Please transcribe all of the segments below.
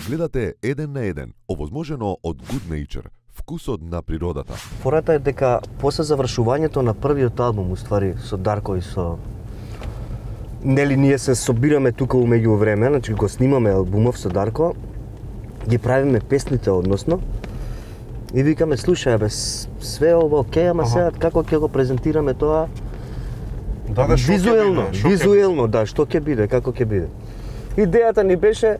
Гледате еден на еден, овозможено од Good Nature, вкусот на природата. Фората е дека после завршувањето на првиот албум, уствари со Дарко и со нели ние се собираме тука умеѓу време, значи го снимаме албумов со Дарко, ги правиме песните односно и викаме слушај бе, све ова окей, ама сега како ќе го презентираме тоа? Да, визуелно, да, што ќе биде, како ќе биде. Идејата ни беше,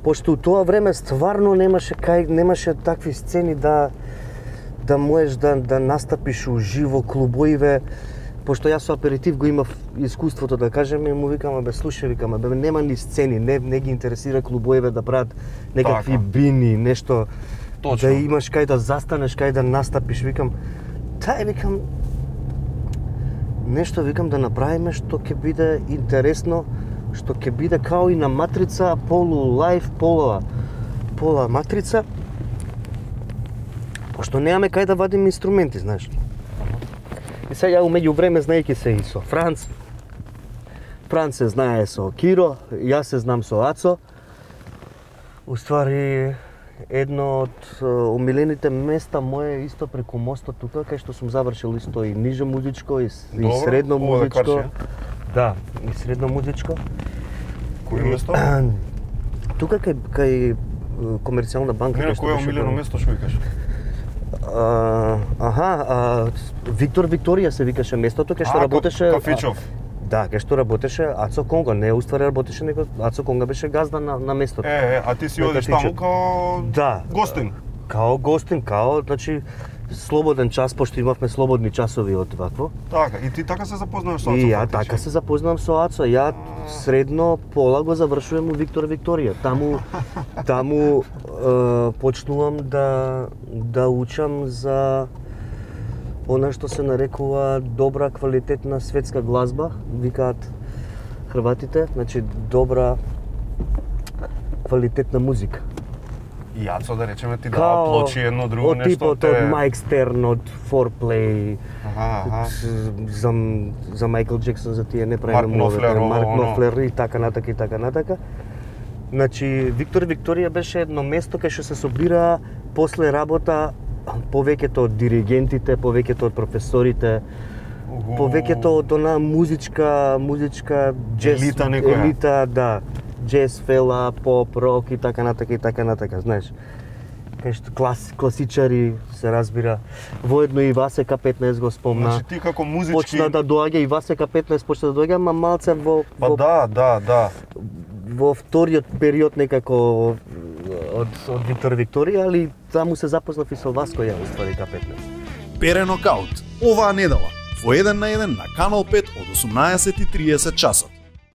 пошто у тоа време стварно немаше такви сцени да можеш да настапиш уживо клубоиве, пошто јас со аперитив го имав искуството да кажем и му викам бе слушај, викам бе нема ни сцени, не ги интересира клубоиве да прават некакви бини, нешто. Точно. Да имаш кај да застанеш, кај да настапиш, викам нешто да направиме што ќе биде интересно, што ќе биде као и на матрица, полу лайф, пола матрица. Пошто немаме кај да вадиме инструменти, знаеш. И сега умеѓу време знаејќи се и со Франц се знае со Киро, јас се знам со Ацо. Уствари едно од омилените места мое исто преку мостот тука, кај што сум завршил исто и ниже музичко и средно музичко. Да, и средно музичко. Кој место? Тука кај Комерцијална банка. Не, кој е омилено место што викаш? Виктор Викторија се викаше местото кај што работеше. Кафичов. Да, кај што работеше Ацо Конго, не уствари работеше, него Ацо Конго беше газда на местото. А ти си одиш таму као гостин? Као гостин, значи слободен час, пошто имавме слободни часови од вакво. Така, и ти така се запознаваш со Ацо? И ја така се запознавам со Ацо. Ја средно пола го завршувам у Виктор Викторија. Таму почнувам да учам за она што се нарекува добра квалитетна светска глазба, викаат хрватите, значи добра квалитетна музика. И Ацо, да речеме, ти дава плочи едно друго нешто? Од типот од Майк Стерн, од Foreplay, за Майкл Джексон, за тие не правиме Марк Нофлер и така натака. Значи, Виктор Викторија беше едно место кај што се собира после работа повеќето од диригентите, повеќето од професорите, повеќето од она музичка джез елита, да, джез, фела, поп, рок и така натака, знаеш. Кај што класичари се разбира. Воедно и Васека 15 го спомна. Значи ти како музички почна да доаѓа и Васека 15 почна да доаѓа, ама малце во да. Во вториот период некако од Виктор Викторија, али таму се запознав и со Васко ја уствари К15. Пере нокаут оваа недела во еден на еден на Канал 5 од 18:30 часот.